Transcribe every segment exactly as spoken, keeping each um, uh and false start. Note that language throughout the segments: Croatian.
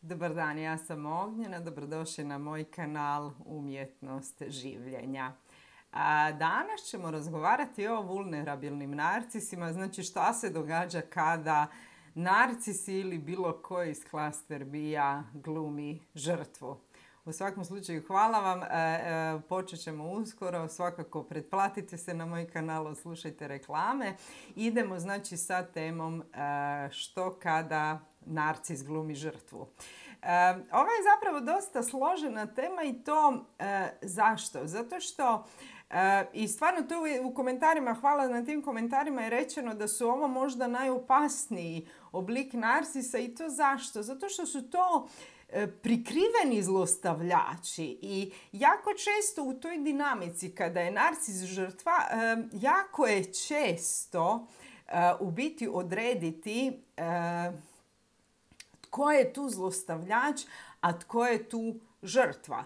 Dobar dan, ja sam Ognjena, dobrodošli na moj kanal Umjetnost življenja. A danas ćemo razgovarati o vulnerabilnim narcisima, znači šta se događa kada narcis ili bilo koji iz klaster bija glumi žrtvu. U svakom slučaju hvala vam, e, e, počet ćemo uskoro, svakako pretplatite se na moj kanal, slušajte reklame. Idemo znači sa temom e, što kada narcis glumi žrtvu. E, ovo je zapravo dosta složena tema i to e, zašto? Zato što e, i stvarno tu u komentarima, hvala na tim komentarima, je rečeno da su ovo možda najopasniji oblik narcisa i to zašto? Zato što su to prikriveni zlostavljači i jako često u toj dinamici kada je narcis žrtva, jako je često u biti odrediti tko je tu zlostavljač, a tko je tu žrtva.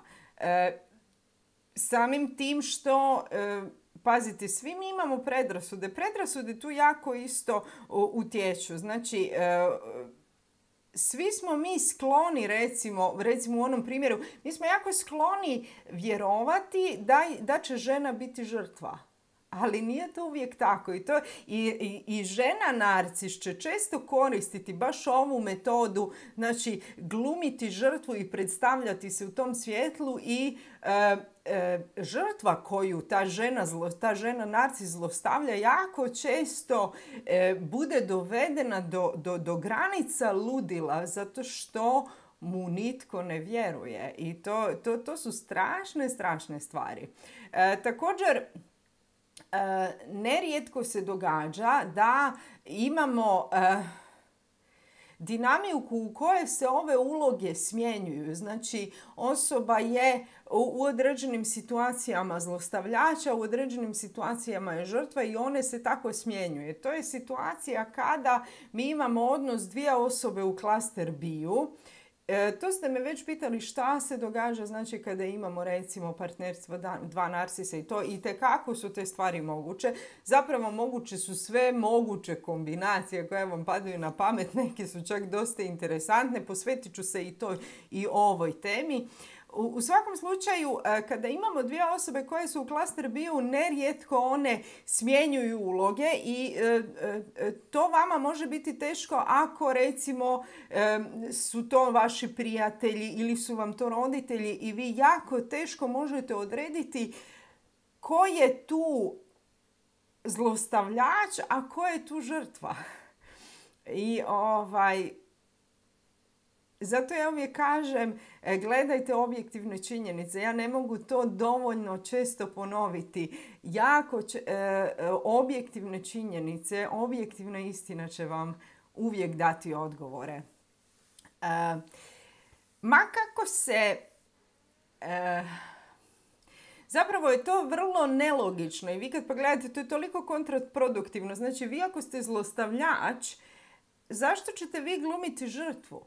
Samim tim što, pazite, svi mi imamo predrasude. Predrasude tu jako isto utječu. Znači, svi smo mi skloni, recimo, recimo u onom primjeru, mi smo jako skloni vjerovati da, da će žena biti žrtva. Ali nije to uvijek tako. I, to, i, i, i žena narcis će često koristiti baš ovu metodu, znači glumiti žrtvu i predstavljati se u tom svjetlu i e, e, žrtva koju ta žena, zlo, ta žena narcis zlostavlja jako često e, bude dovedena do, do, do granica ludila zato što mu nitko ne vjeruje. I to, to, to su strašne, strašne stvari. E, također, Uh, nerijetko se događa da imamo uh, dinamiku u kojoj se ove uloge smjenjuju. Znači, osoba je u, u određenim situacijama zlostavljača, u određenim situacijama je žrtva i one se tako smjenjuje. To je situacija kada mi imamo odnos dvije osobe u klaster biju. E, to ste me već pitali šta se događa, znači kada imamo recimo partnerstvo dva narcisa i to i tekako su te stvari moguće. Zapravo moguće su sve moguće kombinacije koje vam padaju na pamet, neke su čak dosta interesantne, posvetit ću se i to i ovoj temi. U svakom slučaju, kada imamo dvije osobe koje su u klaster biju, nerijetko one smjenjuju uloge i to vama može biti teško ako recimo su to vaši prijatelji ili su vam to roditelji i vi jako teško možete odrediti ko je tu zlostavljač, a ko je tu žrtva. I ovaj... Zato ja uvijek kažem, gledajte objektivne činjenice. Ja ne mogu to dovoljno često ponoviti. Jako č- e, objektivne činjenice, objektivna istina će vam uvijek dati odgovore. E, ma kako se... E, zapravo je to vrlo nelogično i vi kad pogledate, to je toliko kontraproduktivno. Znači, vi ako ste zlostavljač, zašto ćete vi glumiti žrtvu?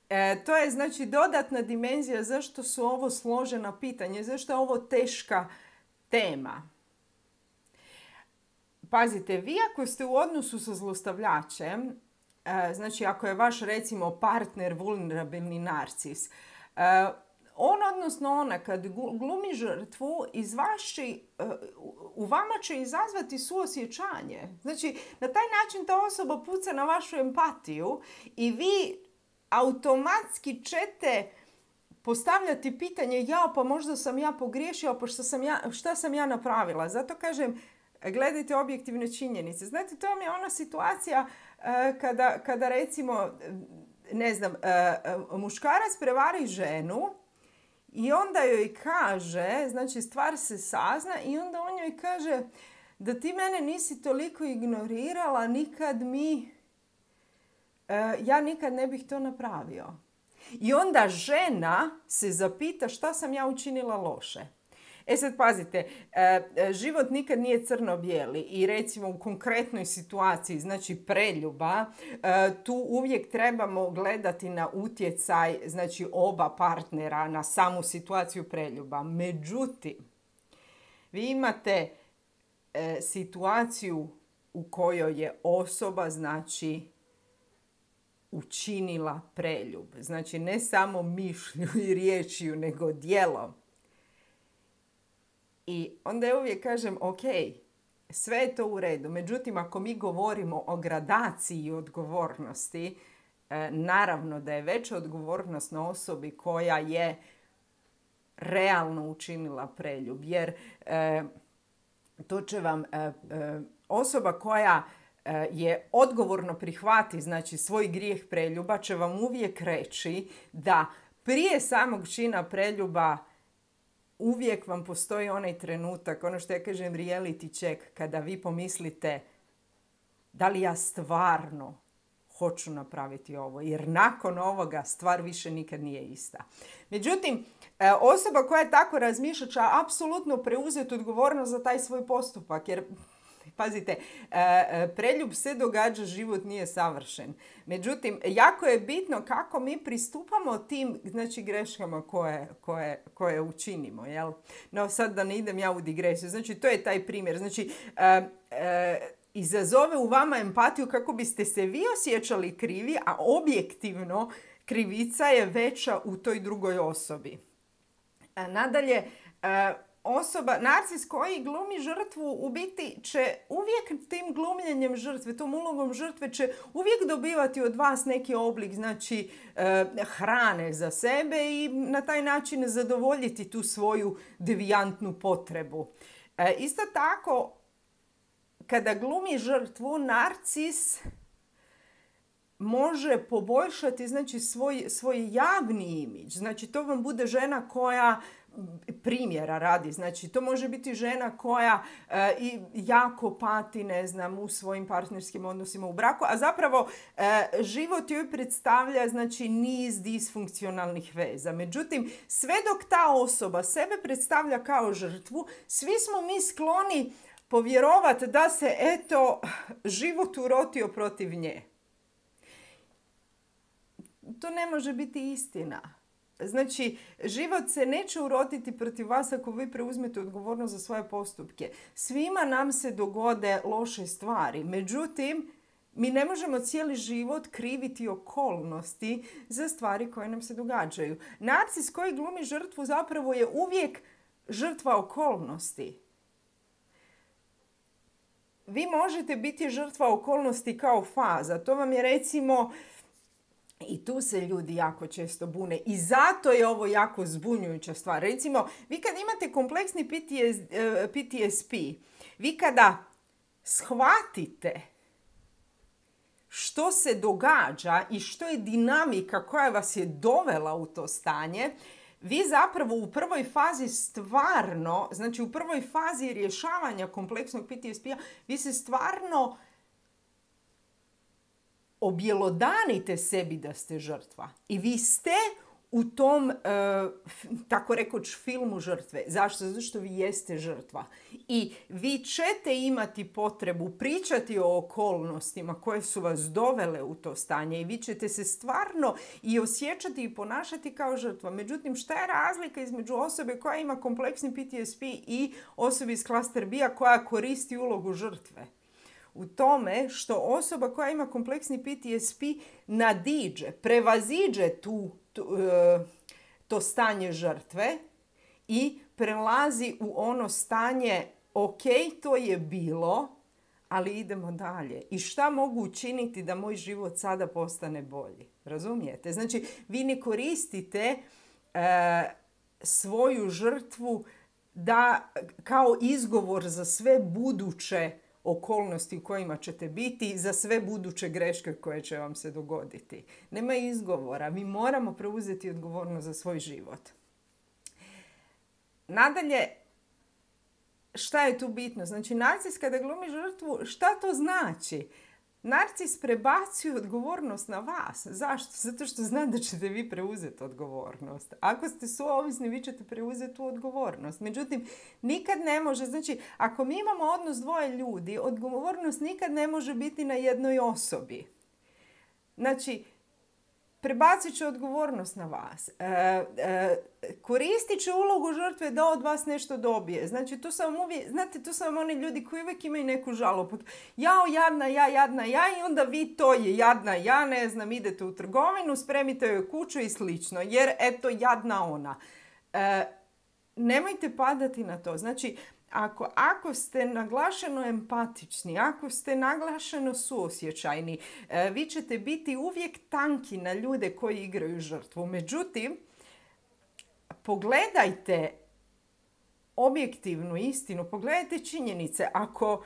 E, to je znači dodatna dimenzija zašto su ovo složena pitanja, zašto je ovo teška tema. Pazite, vi ako ste u odnosu sa zlostavljačem, e, znači ako je vaš recimo partner vulnerabilni narcis, e, on odnosno ona kad glumi žrtvu iz vaši, u vama će izazvati suosjećanje. Znači na taj način ta osoba puca na vašu empatiju i vi automatski ćete postavljati pitanje ja pa možda sam ja pogriješila, pa šta sam ja, šta sam ja napravila. Zato kažem, gledajte objektivne činjenice. Znate, to vam je ona situacija uh, kada, kada recimo, ne znam, uh, muškarac prevari ženu i onda joj kaže, znači stvar se sazna i onda on joj kaže da ti mene nisi toliko ignorirala, nikad mi... ja nikad ne bih to napravio. I onda žena se zapita šta sam ja učinila loše. E sad pazite, život nikad nije crno-bijeli i recimo u konkretnoj situaciji, znači preljuba, tu uvijek trebamo gledati na utjecaj, znači oba partnera na samu situaciju preljuba. Međutim, vi imate situaciju u kojoj je osoba, znači učinila preljub. Znači, ne samo mišlju i riječju, nego djelom. I onda ja uvijek kažem, ok, sve je to u redu. Međutim, ako mi govorimo o gradaciji i odgovornosti, e, naravno da je veća odgovornost na osobi koja je realno učinila preljub. Jer e, to će vam e, e, osoba koja e, je odgovorno prihvati, znači svoj grijeh preljuba, će vam uvijek reći da prije samog čina preljuba uvijek vam postoji onaj trenutak, ono što ja kažem reality check, kada vi pomislite da li ja stvarno hoću napraviti ovo, jer nakon ovoga stvar više nikad nije ista. Međutim, osoba koja tako razmišlja će apsolutno preuzeti odgovornost za taj svoj postupak, jer pazite, preljub se događa, život nije savršen. Međutim, jako je bitno kako mi pristupamo tim, znači, greškama koje, koje, koje učinimo. Jel? No, sad da ne idem ja u digresiju. Znači, to je taj primjer. Znači, e, e, izazove u vama empatiju kako biste se vi osjećali krivi, a objektivno krivica je veća u toj drugoj osobi. A nadalje, e, osoba, narcis koji glumi žrtvu, u biti će uvijek tim glumljenjem žrtve, tom ulogom žrtve će uvijek dobivati od vas neki oblik, znači e, hrane za sebe i na taj način zadovoljiti tu svoju devijantnu potrebu. E, isto tako, kada glumi žrtvu, narcis može poboljšati, znači, svoj, svoj javni imidž. Znači, to vam bude žena koja primjera radi. Znači, to može biti žena koja e, i jako pati, ne znam, u svojim partnerskim odnosima u braku, a zapravo e, život joj predstavlja, znači, niz disfunkcionalnih veza. Međutim, sve dok ta osoba sebe predstavlja kao žrtvu, svi smo mi skloni povjerovati da se, eto, život urotio protiv nje. To ne može biti istina. Znači, život se neće urotiti protiv vas ako vi preuzmete odgovornost za svoje postupke. Svima nam se dogode loše stvari. Međutim, mi ne možemo cijeli život kriviti okolnosti za stvari koje nam se događaju. Narcis koji glumi žrtvu zapravo je uvijek žrtva okolnosti. Vi možete biti žrtva okolnosti kao faza. To vam je, recimo, i tu se ljudi jako često bune i zato je ovo jako zbunjujuća stvar. Recimo, vi kad imate kompleksni P T S P, vi kada shvatite što se događa i što je dinamika koja vas je dovela u to stanje, vi zapravo u prvoj fazi stvarno, znači u prvoj fazi rješavanja kompleksnog P T S P-a, vi se stvarno objelodanite sebi da ste žrtva. I vi ste u tom, e, tako rekoć, filmu žrtve. Zašto? Zato što vi jeste žrtva. I vi ćete imati potrebu pričati o okolnostima koje su vas dovele u to stanje i vi ćete se stvarno i osjećati i ponašati kao žrtva. Međutim, šta je razlika između osobe koja ima kompleksni P T S P i osobe iz klaster B-a koja koristi ulogu žrtve? U tome što osoba koja ima kompleksni P T S P nadiđe, prevaziđe tu, tu, to stanje žrtve i prelazi u ono stanje, ok, to je bilo, ali idemo dalje. I šta mogu učiniti da moj život sada postane bolji? Razumijete? Znači, vi ne koristite e, svoju žrtvu da, kao izgovor za sve buduće okolnosti u kojima ćete biti, za sve buduće greške koje će vam se dogoditi. Nema izgovora. Mi moramo preuzeti odgovornost za svoj život. Nadalje, šta je tu bitno? Znači, narcis kada glumi žrtvu, šta to znači? Narcis prebacuje odgovornost na vas. Zašto? Zato što zna da ćete vi preuzeti odgovornost. Ako ste suovisni, vi ćete preuzeti tu odgovornost. Međutim, nikad ne može, znači, ako mi imamo odnos dvoje ljudi, odgovornost nikad ne može biti na jednoj osobi. Znači, prebacit će odgovornost na vas. E, e, koristit će ulogu žrtve da od vas nešto dobije. Znači, tu sam uvijek, znate, tu sam oni ljudi koji uvijek imaju neku žalobu. Jao, jadna ja, jadna ja, i onda vi to je jadna ja, ne znam, idete u trgovinu, spremite joj kuću i slično, jer eto, jadna ona. E, nemojte padati na to. Znači, Ako, ako ste naglašeno empatični, ako ste naglašeno suosjećajni, e, vi ćete biti uvijek tanki na ljude koji igraju žrtvu. Međutim, pogledajte objektivnu istinu, pogledajte činjenice. Ako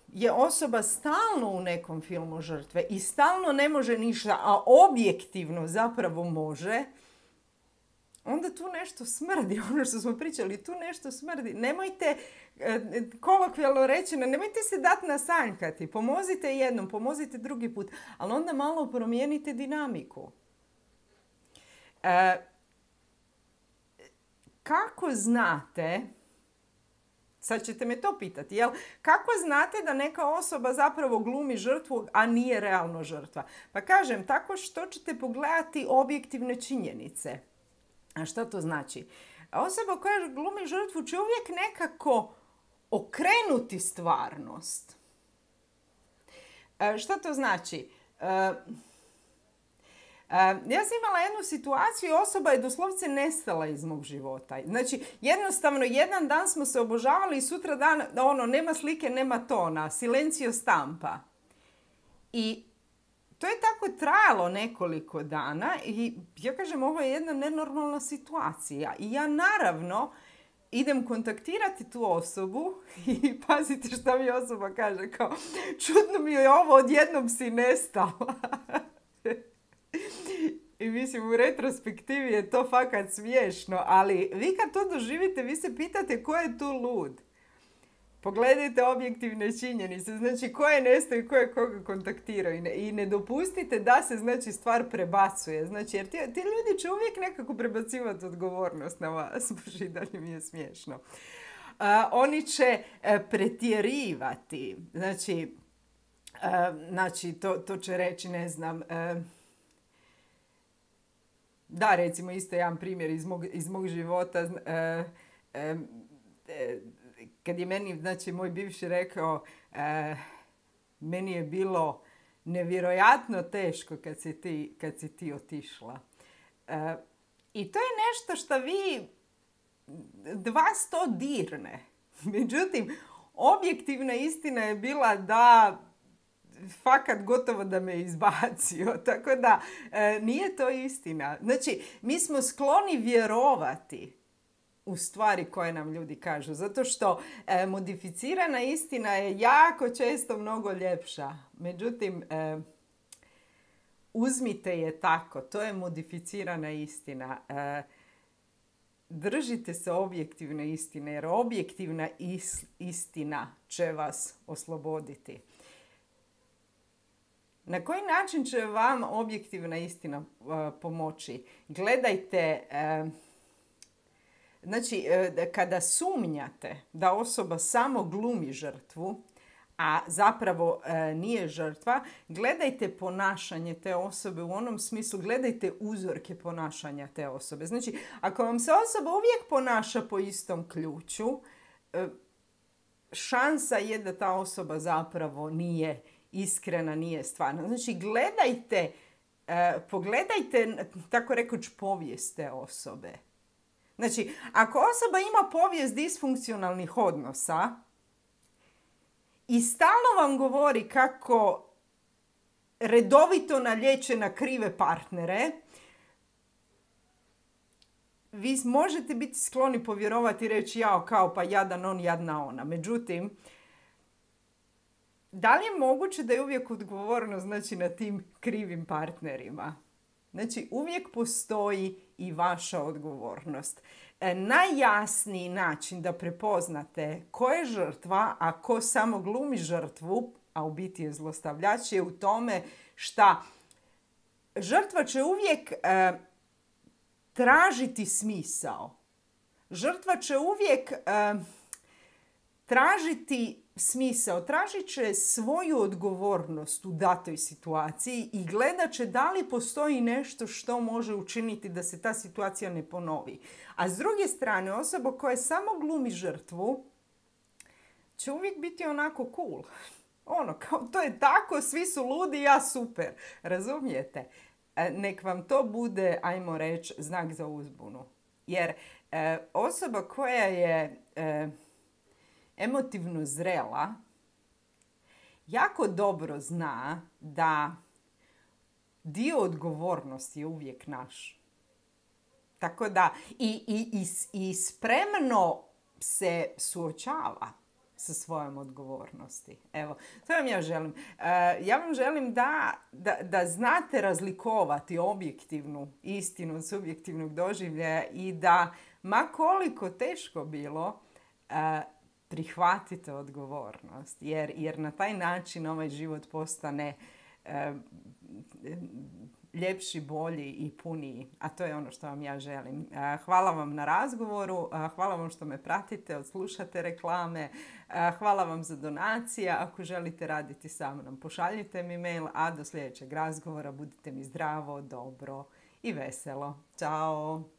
je osoba stalno u nekom filmu žrtve i stalno ne može ništa, a objektivno zapravo može, onda tu nešto smrdi, ono što smo pričali, tu nešto smrdi. Nemojte, kolokvijalno rečeno, nemojte se dati nasanjkati. Pomozite jednom, pomozite drugi put, ali onda malo promijenite dinamiku. E, kako znate, sad ćete me to pitati, jel? Kako znate da neka osoba zapravo glumi žrtvu, a nije realno žrtva? Pa kažem, tako što ćete pogledati objektivne činjenice. A što to znači? Osoba koja glumi žrtvu će uvijek nekako okrenuti stvarnost. E, što to znači? E, e, ja sam imala jednu situaciju i osoba je doslovce nestala iz mog života. Znači, jednostavno, jedan dan smo se obožavali i sutra dan, ono, nema slike, nema tona, silencio stampa. I to je tako trajalo nekoliko dana i ja kažem, ovo je jedna nenormalna situacija. I ja naravno idem kontaktirati tu osobu i pazite što mi osoba kaže, kao, čudno mi je ovo, odjednom si nestala. I mislim, u retrospektivi je to fakat smiješno, ali vi kad to doživite, vi se pitate ko je tu lud. Pogledajte objektivne činjenice, znači ko je nestao i ko je koga kontaktirao i ne, i ne dopustite da se, znači, stvar prebacuje. Znači, jer ti, ti ljudi će uvijek nekako prebacivati odgovornost na vas. Bože, i dalje mi je smiješno. Uh, oni će uh, pretjerivati. Znači, uh, znači to, to će reći, ne znam, uh, da, recimo, isto jedan primjer iz mog, iz mog života. Uh, uh, uh, Kad je meni, znači, moj bivši rekao, e, meni je bilo nevjerojatno teško kad si ti, kad si ti otišla. E, I to je nešto što vi, vas to dirne. Međutim, objektivna istina je bila da fakat gotovo da me izbacio. Tako da e, nije to istina. Znači, mi smo skloni vjerovati u stvari koje nam ljudi kažu. Zato što e, modificirana istina je jako često mnogo ljepša. Međutim, e, uzmite je tako. To je modificirana istina. E, držite se objektivne istine, jer objektivna is, istina će vas osloboditi. Na koji način će vam objektivna istina e, pomoći? Gledajte... E, Znači, kada sumnjate da osoba samo glumi žrtvu, a zapravo e, nije žrtva, gledajte ponašanje te osobe u onom smislu, gledajte uzorke ponašanja te osobe. Znači, ako vam se osoba uvijek ponaša po istom ključu, e, šansa je da ta osoba zapravo nije iskrena, nije stvarna. Znači, gledajte, e, pogledajte, tako rekuć, povijest te osobe. Znači, ako osoba ima povijest disfunkcionalnih odnosa i stalno vam govori kako redovito nalječe na krive partnere, vi možete biti skloni povjerovati i reći, jao, kao pa jadan on, jadna ona. Međutim, da li je moguće da je uvijek odgovorno, znači, na tim krivim partnerima? Znači, uvijek postoji i vaša odgovornost. E, najjasniji način da prepoznate ko je žrtva, a ko samo glumi žrtvu, a u biti je zlostavljač, je u tome šta žrtva će uvijek e, tražiti smisao. Žrtva će uvijek e, tražiti smisao, tražit će svoju odgovornost u datoj situaciji i gledat će da li postoji nešto što može učiniti da se ta situacija ne ponovi. A s druge strane, osoba koja samo glumi žrtvu će uvijek biti onako cool. Ono, kao to je tako, svi su ludi, ja super. Razumijete? Nek vam to bude, ajmo reći, znak za uzbunu. Jer e, osoba koja je e, emotivno zrela jako dobro zna da dio odgovornosti je uvijek naš. Tako da i, i, i, i spremno se suočava sa svojom odgovornosti. Evo, to vam ja želim. Uh, ja vam želim da, da, da znate razlikovati objektivnu istinu od subjektivnog doživljaja i da, ma koliko teško bilo, uh, prihvatite odgovornost. Jer, jer na taj način ovaj život postane uh, ljepši, bolji i puniji. A to je ono što vam ja želim. Hvala vam na razgovoru, hvala vam što me pratite, odslušate reklame, hvala vam za donacije. Ako želite raditi sa mnom, pošaljite mi mail, a do sljedećeg razgovora budite mi zdravo, dobro i veselo. Ćao!